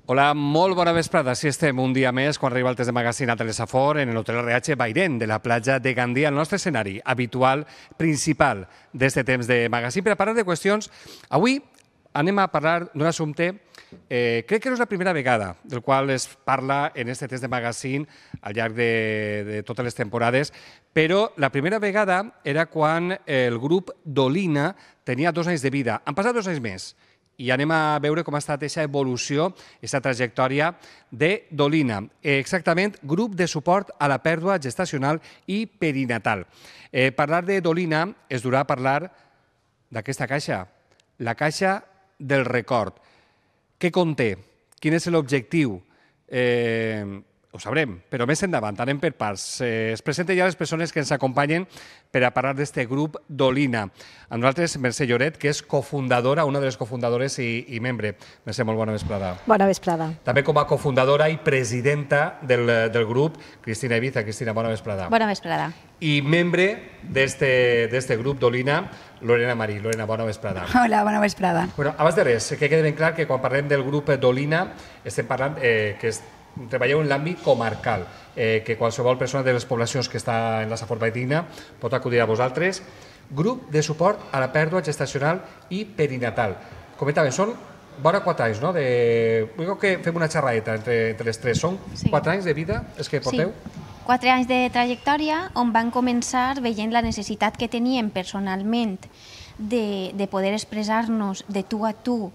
Hola, molt bona vesprada. Així estem un dia més quan arriba el test de magazine a Telesafor en l'Hotel RH Bairén de la platja de Gandia, el nostre escenari habitual, principal d'aquest temps de magazine. Per a parlar de qüestions, avui anem a parlar d'un assumpte crec que no és la primera vegada del qual es parla en aquest test de magazine al llarg de totes les temporades, però la primera vegada era quan el grup Dolina tenia 2 anys de vida. Han passat 2 anys més i anem a veure com ha estat aquesta evolució, aquesta trajectòria de Dolina. Exactament, grup de suport a la pèrdua gestacional i perinatal. Parlar de Dolina és durà parlar d'aquesta caixa, la caixa del record. Què conté? Quin és l'objectiu? Ho sabrem, però més endavant, anem per parts. Es presenten ja les persones que ens acompanyen per a parlar d'aquest grup Dolina. A nosaltres, Mercè Lloret, que és cofundadora, una de les cofundadores i membre. Mercè, molt bona vesprada. Bona vesprada. També com a cofundadora i presidenta del grup, Cristina Ibiza. Cristina, bona vesprada. Bona vesprada. I membre d'aquest grup Dolina, Lorena Marí. Lorena, bona vesprada. Hola, bona vesprada. Abans de res, que quedi ben clar que quan parlem del grup Dolina estem parlant que treballeu en l'àmbit comarcal, que qualsevol persona de les poblacions que està en la Safor Bairina pot acudir a vosaltres. Grup de suport a la pèrdua gestacional i perinatal. Comentàvem, són vora 4 anys, no? Vull que fem una xerradeta entre les tres. Són 4 anys de vida els que porteu? Sí. 4 anys de trajectòria on van començar veient la necessitat que teníem personalment de poder expressar-nos de tu a tu,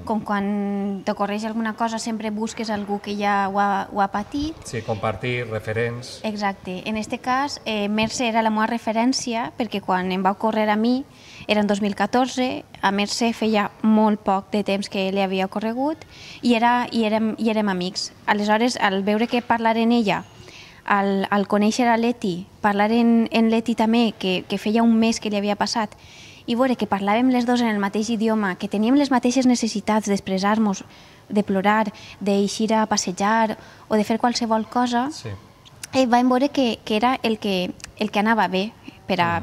com quan t'ocorreix alguna cosa sempre busques algú que ja ho ha patit. Sí, compartir, referents. Exacte. En aquest cas, Mercè era la meva referència perquè quan em va ocórrer a mi, era en 2014, a Mercè feia molt poc de temps que li havia ocorregut i érem amics. Aleshores, al veure que parlar en ella, al conèixer a Leti, parlar en Leti també, que feia un mes que li havia passat, i veure que parlàvem les dues en el mateix idioma, que teníem les mateixes necessitats d'expressar-nos, de plorar, d'eixir a passejar o de fer qualsevol cosa, vam veure que era el que anava bé per a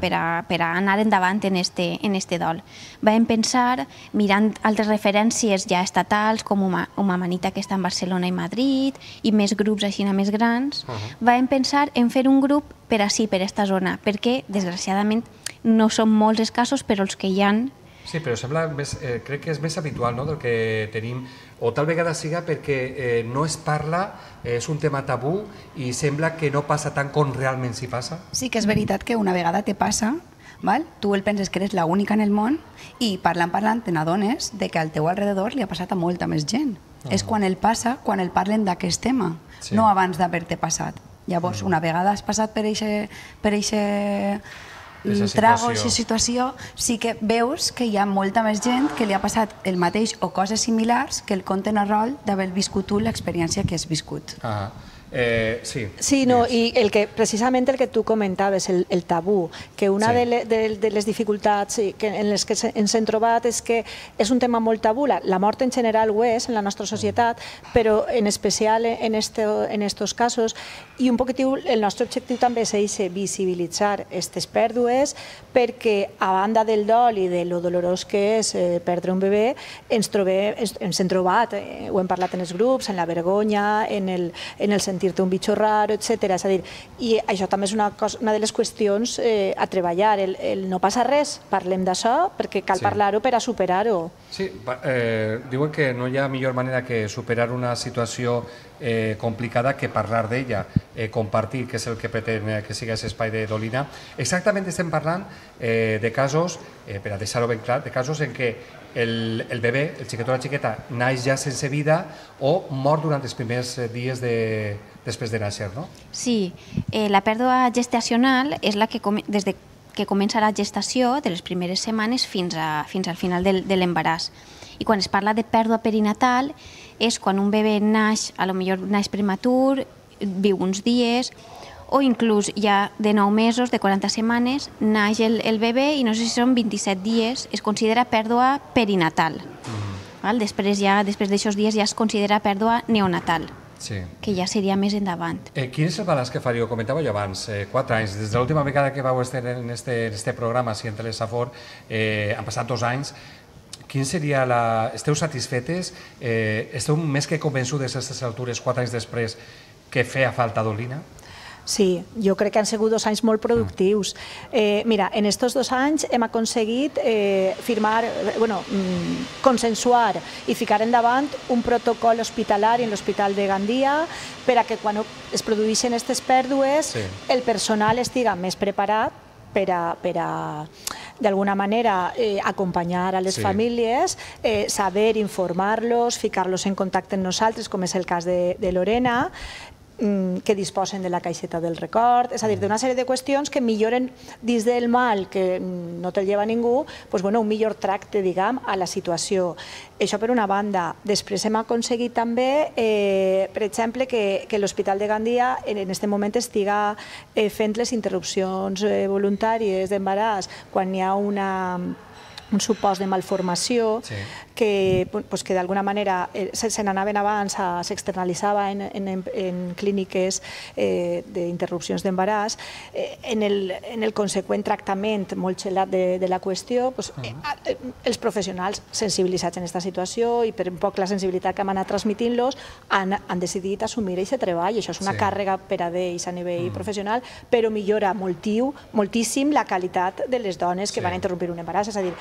anar endavant en este dol. Vam pensar, mirant altres referències ja estatals, com Uma Manita, que està en Barcelona i Madrid, i més grups així més grans, vam pensar en fer un grup per ací, per esta zona, perquè, desgraciadament, no són molts escassos, però els que hi ha... Sí, però sembla crec que és més habitual del que tenim, o tal vegada siga perquè no es parla, és un tema tabú i sembla que no passa tant com realment s'hi passa. Sí que és veritat que una vegada te passa, tu el penses que eres l'única en el món i parlant te n'adones que al teu alrededor li ha passat a molta més gent. És quan el passa, quan el parlen d'aquest tema, no abans d'haver-te passat. Llavors, una vegada has passat per eixe trago, aquesta situació, sí que veus que hi ha molta més gent que li ha passat el mateix o coses similars que el compten a rol d'haver viscut tu l'experiència que has viscut. Sí, no, i precisament el que tu comentaves, el tabú, que una de les dificultats en les que ens hem trobat és que és un tema molt tabú. La mort en general ho és en la nostra societat, però en especial en estos casos, i un poquitiu el nostre objectiu també és visibilitzar aquestes pèrdues, perquè a banda del dol i de lo dolorós que és perdre un bebè, ens hem trobat, ho hem parlat en els grups, en la vergonya, en el sentir-te un bitxo raro, etc. És a dir, i això també és una de les qüestions a treballar. El no passa res, parlem d'això, perquè cal parlar-ho per a superar-ho. Sí, diuen que no hi ha millor manera que superar una situació complicada que parlar d'ella, compartir, que és el que pretén que sigui aquest espai de Dolina. Exactament estem parlant de casos, per a deixar-ho ben clar, de casos en què el bebè, el xiquet o la xiqueta, naix ja sense vida o mor durant els primers dies després de néixer, no? Sí, la pèrdua gestacional és la que des que comença la gestació, de les primeres setmanes fins al final de l'embaràs. I quan es parla de pèrdua perinatal és quan un bebè naix, potser naix prematur, viu uns dies, o inclús ja de 9 mesos, de 40 setmanes, naix el bebè i no sé si són 27 dies, es considera pèrdua perinatal. Després d'aixòs dies ja es considera pèrdua neonatal, que ja seria més endavant. Quin és el balanç que faríeu? Comentàveu jo abans, 4 anys. Des de l'última vegada que vau estar en este programa, en Telesafor, han passat 2 anys. Quin seria Esteu satisfetes? Esteu més que convençudes a aquestes altures, 4 anys després, que feia falta Dolina? Sí, jo crec que han sigut 2 anys molt productius. Mira, en aquests 2 anys hem aconseguit consensuar i ficar endavant un protocol hospitalari en l'Hospital de Gandia per a que quan es produeixen aquestes pèrdues el personal estiga més preparat per a d'alguna manera acompanyar a les famílies, saber informar-los, ficar-los en contacte amb nosaltres, com és el cas de Lorena, que disposen de la caixeta del record, és a dir, d'una sèrie de qüestions que milloren dins del mal, que no te'l lleva ningú, un millor tracte, diguem, a la situació. Això per una banda. Després hem aconseguit també, per exemple, que l'Hospital de Gandia en aquest moment estiga fent les interrupcions voluntàries d'embaràs quan hi ha un supòs de malformació que d'alguna manera se n'anaven abans, s'externalitzava en clíniques d'interrupcions d'embaràs. En el conseqüent tractament molt xelat de la qüestió, els professionals sensibilitzats en aquesta situació i per un poc la sensibilitat que hem anat transmitint-los han decidit assumir aquest treball. Això és una càrrega per a ells a nivell professional, però millora moltíssim la qualitat de les dones que van a interrompre un embaràs. És a dir,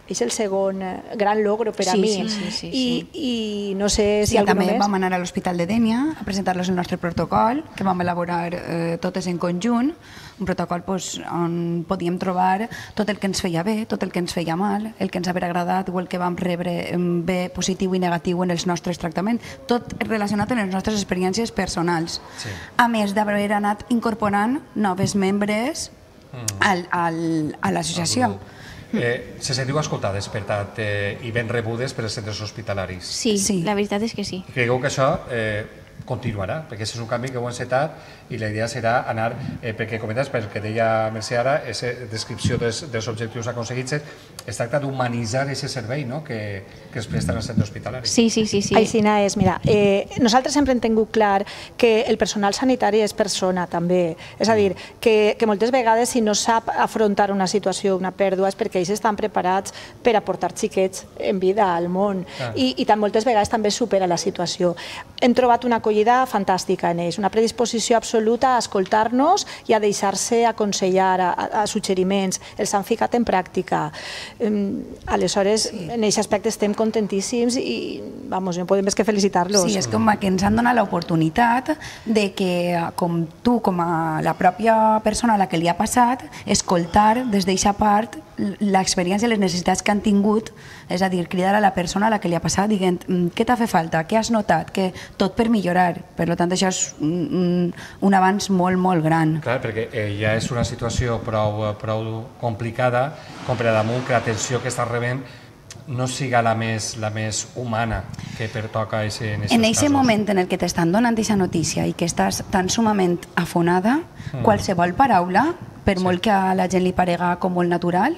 és el segon gran logro per a mi. I no sé si alguna més. També vam anar a l'Hospital de Dénia a presentar-los el nostre protocol, que vam elaborar totes en conjunt, un protocol on podíem trobar tot el que ens feia bé, tot el que ens feia mal, el que ens havia agradat o el que vam rebre bé, positiu i negatiu en els nostres tractaments, tot relacionat amb les nostres experiències personals. A més d'haver anat incorporant noves membres a l'associació. Se sentiu escoltades, per tant, i ben rebudes per als centres hospitalaris? Sí, la veritat és que sí. Creieu que això continuarà, perquè és un canvi que ho hem encetat i la idea serà anar, perquè comentes, pel que deia Mercè ara, aquesta descripció dels objectius aconseguits, es tracta d'humanitzar aquest servei que es presta en el centre hospitalari. Sí. Aixina és, mira, nosaltres sempre hem tingut clar que el personal sanitari és persona també, és a dir, que moltes vegades si no sap afrontar una situació, una pèrdua, és perquè ells estan preparats per a portar xiquets en vida al món i moltes vegades també supera la situació. Hem trobat una acollida fantàstica en ells, una predisposició absoluta a escoltar-nos i a deixar-se aconsellar, a suggeriments, els han ficat en pràctica. Aleshores, en aquest aspecte estem contentíssims i no podem més que felicitar-los. Sí, és com que ens han donat l'oportunitat de que, com tu, com a la pròpia persona a la que li ha passat, escoltar des d'aquesta part l'experiència i les necessitats que han tingut, és a dir, cridar a la persona a la que li ha passat dient què t'ha fet falta, què has notat, que tot per millorar. Per tant, això és un avanç molt, molt gran. Clar, perquè ja és una situació prou complicada com per a damunt que l'atenció que estàs rebent no siga la més humana que pertoca en aquests casos. En aquest moment en el que t'estan donant aquesta notícia i que estàs tan sumament afonada, qualsevol paraula, per molt que a la gent li parega com molt natural,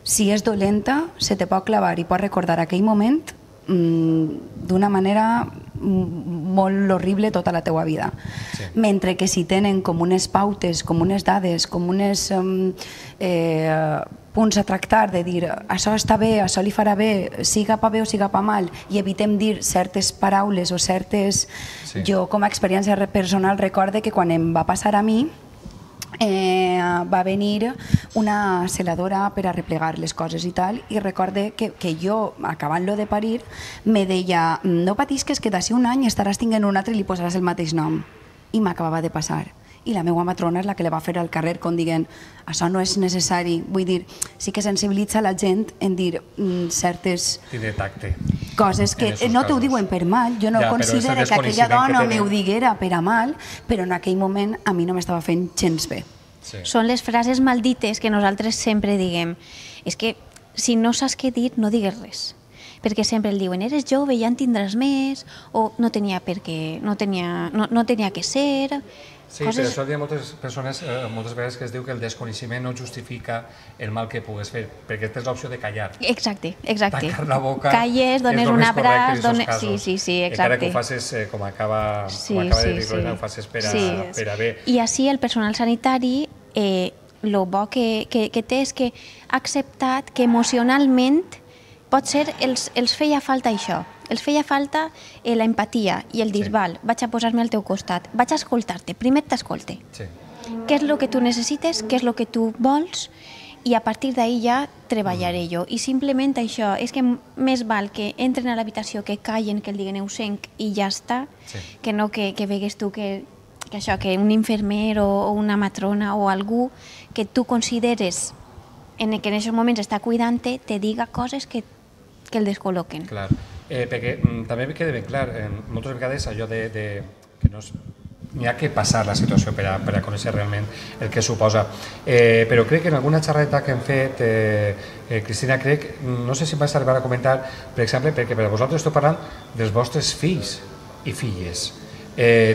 si és dolenta, se te pot clavar i pot recordar aquell moment d'una manera molt horrible tota la teua vida. Mentre que si tenen com unes pautes, com unes dades, com unes punts a tractar, de dir això està bé, això li farà bé, siga pa bé o siga pa mal, i evitem dir certes paraules o certes... Jo, com a experiència personal, recorde que quan em va passar a mi, va venir una celadora per a replegar les coses i tal, i recorde que jo, acabant-lo de parir, me deia no patisques que d'ací un any estaràs tinguent un altre i li posaràs el mateix nom. I m'acabava de passar. I la meva matrona és la que la va fer al carrer com dient això no és necessari. Vull dir, sí que sensibilitza la gent en dir certes coses que no t'ho diuen per mal. Jo no considero que aquella dona m'ho diguera per a mal, però en aquell moment a mi no m'estava fent gens bé. Són les frases maldites que nosaltres sempre diguem. És que si no saps què dir, no digues res. Perquè sempre el diuen, eres jove, ja en tindràs més, o no tenia per què, no tenia que ser... Sí, per això hi ha moltes persones, moltes vegades que es diu que el desconeixement no justifica el mal que pugues fer, perquè tens l'opció de callar. Exacte. Tancar la boca calles, dones un abraç... Sí, exacte. Encara que ho facis, com acaba de dir Lorena, ho facis per a bé. I així el personal sanitari, el bo que té és que ha acceptat que emocionalment potser els feia falta això. Els feia falta l'empatia i el dir, val, vaig a posar-me al teu costat, vaig a escoltar-te, primer t'escolte. Què és el que tu necessites, què és el que tu vols, i a partir d'ahir ja treballaré jo. I simplement això, és que més val que entren a l'habitació, que callen, que el diguen eusenc i ja està, que no que vegues tu que un infermer o una matrona o algú que tu consideres que en aquests moments està cuidant-te, te diga coses que el descol·loquen. Clar, perquè també queda ben clar, moltes vegades allò de que no és... N'hi ha que passar la situació per a conèixer realment el que suposa. Però crec que en alguna xerrada que hem fet, Cristina, crec, no sé si em vas arribar a comentar, per exemple, perquè per a vosaltres esteu parlant dels vostres fills i filles.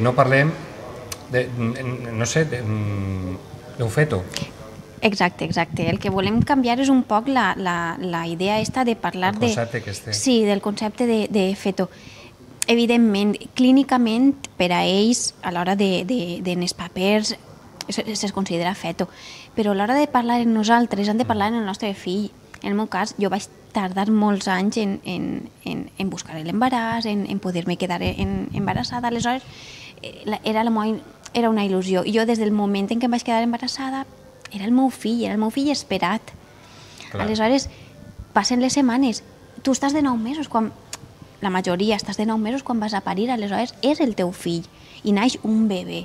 No parlem, no sé, d'un feto. Exacte. El que volem canviar és un poc la idea esta de parlar del concepte que esté. Sí, del concepte de feto. Evidentment, clínicament, per a ells, a l'hora dels papers, es considera feto. Però a l'hora de parlar en nosaltres, han de parlar en el nostre fill. En el meu cas, jo vaig tardar molts anys en buscar l'embaràs, en poder-me quedar embarassada. Aleshores, era una il·lusió. I jo, des del moment en què em vaig quedar embarassada, era el meu fill esperat. Aleshores, passen les setmanes. Tu estàs de 9 mesos, la majoria estàs de 9 mesos quan vas a parir, aleshores és el teu fill i naix un bebè.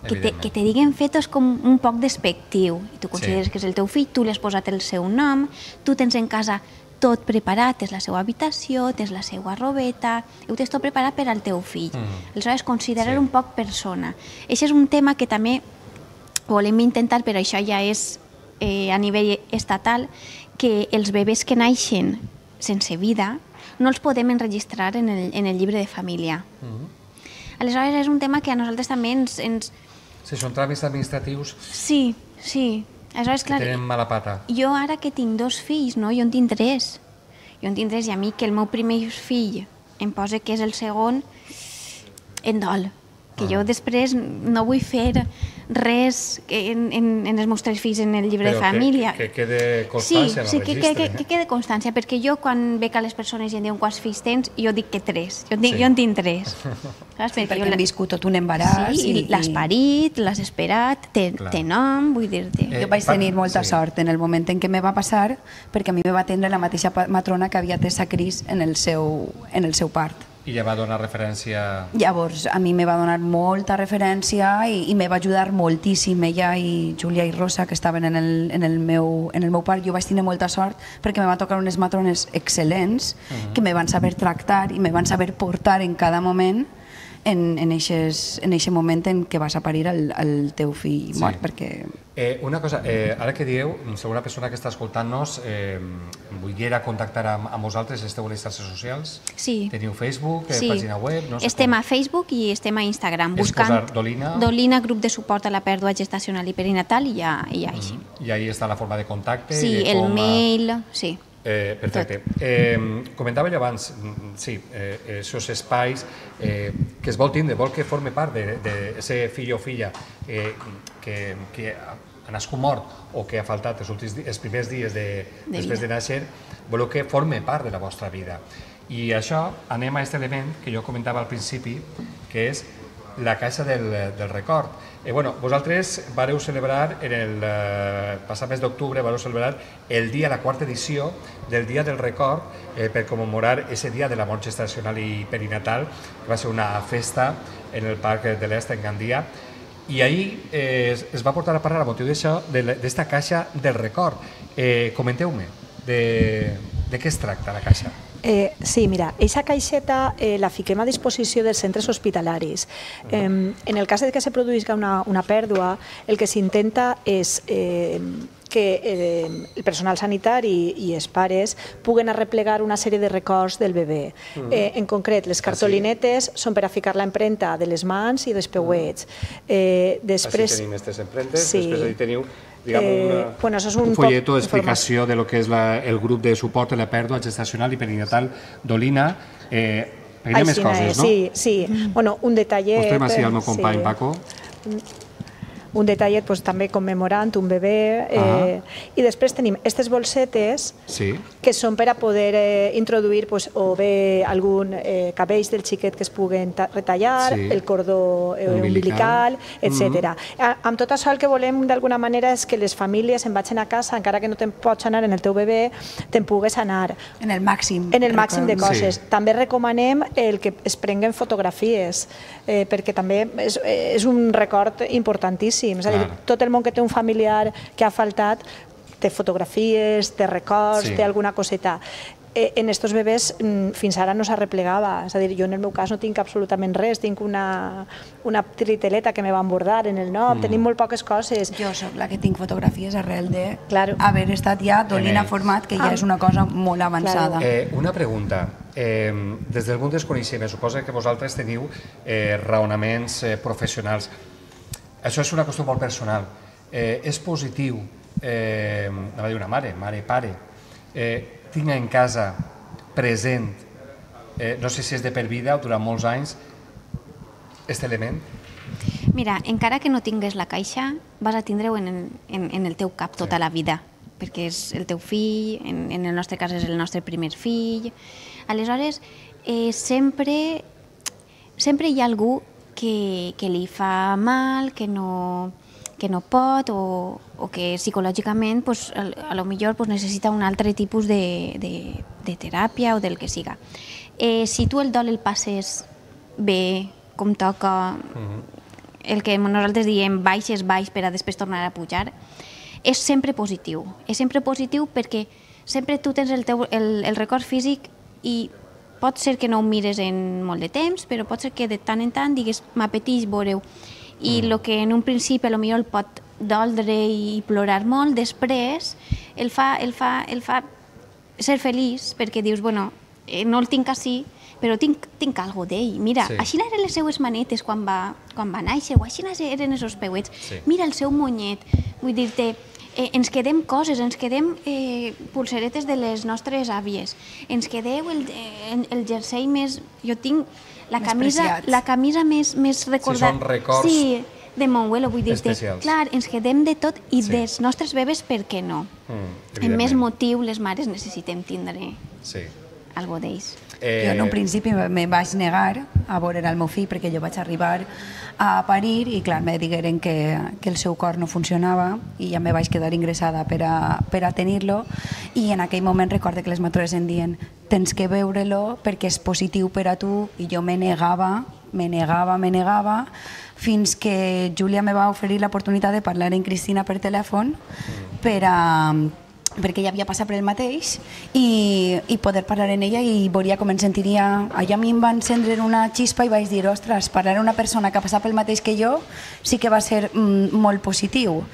Que te diguen feto és com un poc despectiu. I tu consideres que és el teu fill, tu li has posat el seu nom, tu tens en casa tot preparat, tens la seva habitació, tens la seva robeta, ho tens tot preparat per al teu fill. Aleshores, considerar un poc persona. Això és un tema que també volem intentar, però això ja és a nivell estatal, que els bebès que naixen sense vida no els podem enregistrar en el llibre de família. Aleshores, és un tema que a nosaltres també ens... Si són tràmits administratius... Sí. Aleshores, clar, tenen mala pata. Jo ara que tinc 2 fills, no? Jo en tinc 3. I a mi que el meu primer fill em posa que és el segon, em dol. Que jo després no vull fer res en els meus 3 fills en el llibre de família. Però que quede constància en el registre. Sí, que quede constància, perquè jo quan veig a les persones i em diuen quants fills tens, jo dic que 3. Jo en tinc 3. Perquè hem viscut tot un embaràs. Sí, l'has parit, l'has esperat, té nom, vull dir-te. Jo vaig tenir molta sort en el moment en què me va passar, perquè a mi me va atendre la mateixa matrona que havia atès a Cris en el seu part. I ja va donar referència... Llavors, a mi me va donar molta referència i me va ajudar moltíssim. Ella i Júlia i Rosa, que estaven en el meu part, jo vaig tenir molta sort perquè me va tocar unes matrones excel·lents que me van saber tractar i me van saber portar en cada moment en aquest moment en què vas a parir el teu fill mort, perquè... Una cosa, ara que dieu, si alguna persona que està escoltant-nos volguera contactar amb vosaltres, esteu a les xarxes socials? Sí. Teniu Facebook, pàgina web? Estem a Facebook i estem a Instagram, buscant Dolina, grup de suport a la pèrdua gestacional i perinatal, i ja així. I ahí està la forma de contacte? Sí, el mail, sí. Perfecte. Comentava jo abans, sí, aquests espais que es vol tindre, vol que forme part de ser fill o filla que ha nascut mort o que ha faltat els primers dies després de néixer, voleu que forme part de la vostra vida. I això anem a aquest element que jo comentava al principi, que és la caixa del record. Vosaltres vareu celebrar, en el passat mes d'octubre, vareu celebrar el dia, la 4ª edició del Dia del Record per commemorar aquest dia de la mort gestacional i perinatal, que va ser una festa en el Parc de l'Est, en Gandia, i ahir es va portar a parlar a motiu d'això, d'esta caixa del record. Comenteu-me, de què es tracta la caixa? Sí, mira, aquesta caixeta la fiquem a disposició dels centres hospitalaris. En el cas que se produïsca una pèrdua, el que s'intenta és que el personal sanitari i els pares puguen arreplegar una sèrie de records del bebè. En concret, les cartolinetes són per a ficar l'empremta de les mans i dels peuets. Així tenim aquestes empremtes, després teniu un folleto d'explicació de lo que és el grup de suport a la pèrdua gestacional i perinatal Dolina. Peguem més coses, no? Sí. Un detallet... Mostrem així al meu company Paco. un detallet també commemorant un bebè. I després tenim aquestes bolsetes que són per a poder introduir o bé algun cabells del xiquet que es puguen retallar, el cordó umbilical, etc. Amb tot això el que volem d'alguna manera és que les famílies se'n vagin a casa, encara que no te'n pots anar en el teu bebè, te'n pugues anar. En el màxim. En el màxim de coses. També recomanem el que es prenguen fotografies, perquè també és un record importantíssim. És a dir, tot el món que té un familiar que ha faltat té fotografies, té records, té alguna coseta. En estos bebès fins ara no s'arreplegava, és a dir, jo en el meu cas no tinc absolutament res, tinc una triteleta que me van bordar en el nom, tenim molt poques coses. Jo soc la que tinc fotografies arrel d'haver estat ja Dolina format, que ja és una cosa molt avançada. Una pregunta, des del punt desconeixement, suposo que vosaltres teniu raonaments professionals. Això és una qüestió molt personal. És positiu, anava a dir una mare, pare, tinc en casa present, no sé si és de per vida o durant molts anys, aquest element? Mira, encara que no tingues la caixa, vas a tindre-ho en el teu cap tota la vida, perquè és el teu fill, en el nostre cas és el nostre primer fill. Aleshores, sempre hi ha algú que li fa mal, que no pot o que psicològicament a lo millor necessita un altre tipus de teràpia o del que siga. Si tu el dol el passes bé, com toca, el que nosaltres diem baix és baix per a després tornar a pujar, és sempre positiu. És sempre positiu perquè sempre tu tens el record físic i pot ser que no ho mires en molt de temps, però pot ser que de tant en tant digues m'apeteix veure-ho. I el que en un principi potser el pot doldre i plorar molt, després el fa ser feliç perquè dius, bueno, no el tinc així, però tinc alguna d'ell. Mira, així eren les seues manetes quan va néixer, o així eren els peuets. Mira el seu monyet. Vull dir-te, ens quedem coses, ens quedem pulseretes de les nostres àvies, ens quedeu el jersei més... Jo tinc la camisa més recordada. Si són records... Sí, de Monguelo, vull dir-te. Clar, ens quedem de tot i dels nostres bebès, per què no? En més motiu, les mares necessitem tindre alguna d'ells. Jo en un principi me vaig negar a veure el meu fill perquè jo vaig arribar a parir i clar, me digueren que el seu cor no funcionava i ja me vaig quedar ingressada per a tenir-lo i en aquell moment recorde que les matres em diuen tens que veure-lo perquè és positiu per a tu i jo me negava fins que Júlia me va oferir l'oportunitat de parlar amb Cristina per telèfon perquè ella havia passat per el mateix i poder parlar amb ella i veuria com em sentiria. Allà a mi em va encendre una xispa i vaig dir, ostres, parlar amb una persona que ha passat pel mateix que jo sí que va ser molt positiu.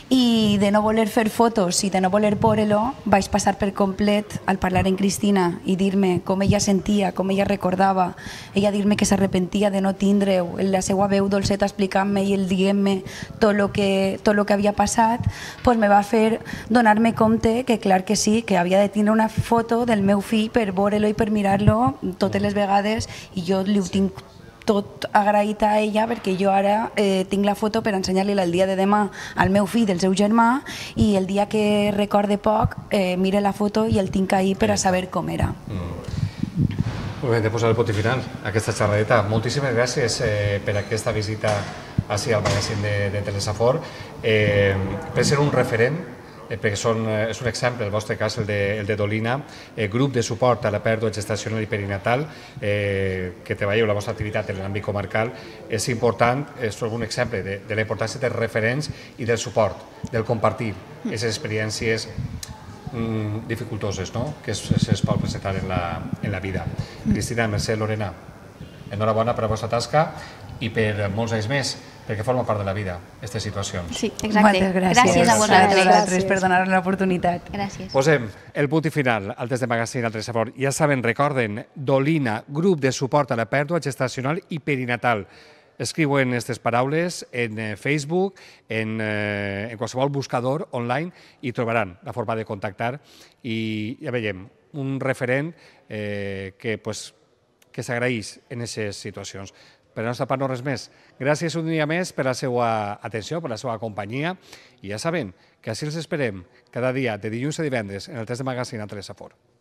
I de no voler fer fotos i de no voler veure-lo, vaig passar per complet al parlar amb Cristina i dir-me com ella sentia, com ella recordava, ella dir-me que s'arrepentia de no tindre-ho, la seva veu dolceta explicant-me i el dient-me tot el que havia passat, doncs me va fer donar-me compte que clar que sí, que havia de tindre una foto del meu fill per veure-lo i per mirar-lo totes les vegades i jo li ho tinc tot agraït a ella perquè jo ara tinc la foto per ensenyar-li el dia de demà al meu fill del seu germà i el dia que recorde poc mire la foto i el tinc ahí per a saber com era. Molt bé, de posar el punt final a aquesta xerradeta. Moltíssimes gràcies per aquesta visita així al magazín de Telesafor. Per ser un referent, perquè és un exemple, el vostre cas, el de Dolina, grup de suport a la pèrdua gestacional i perinatal, que treballeu la vostra activitat en l'àmbit comarcal, és important, és un exemple de la importància dels referents i del suport, del compartir aquestes experiències dificultoses que es pot presentar en la vida. Cristina, Mercè, Lorena, enhorabona per la vostra tasca i per molts anys més, perquè forma part de la vida, aquestes situacions. Sí, exacte. Moltes gràcies a vosaltres. Per donar-nos l'oportunitat. Gràcies. Posem el punt final al test de magazín al Telesafor. Ja saben, recorden, Dolina, grup de suport a la pèrdua gestacional i perinatal. Escriuen aquestes paraules en Facebook, en qualsevol buscador online i trobaran la forma de contactar i ja veiem, un referent que s'agraeix en aquestes situacions. Per la nostra part no res més. Gràcies un dia més per la seva atenció, per la seva companyia, i ja saben que així els esperem cada dia de dilluns a divendres en el test de Magazine a Telesafort.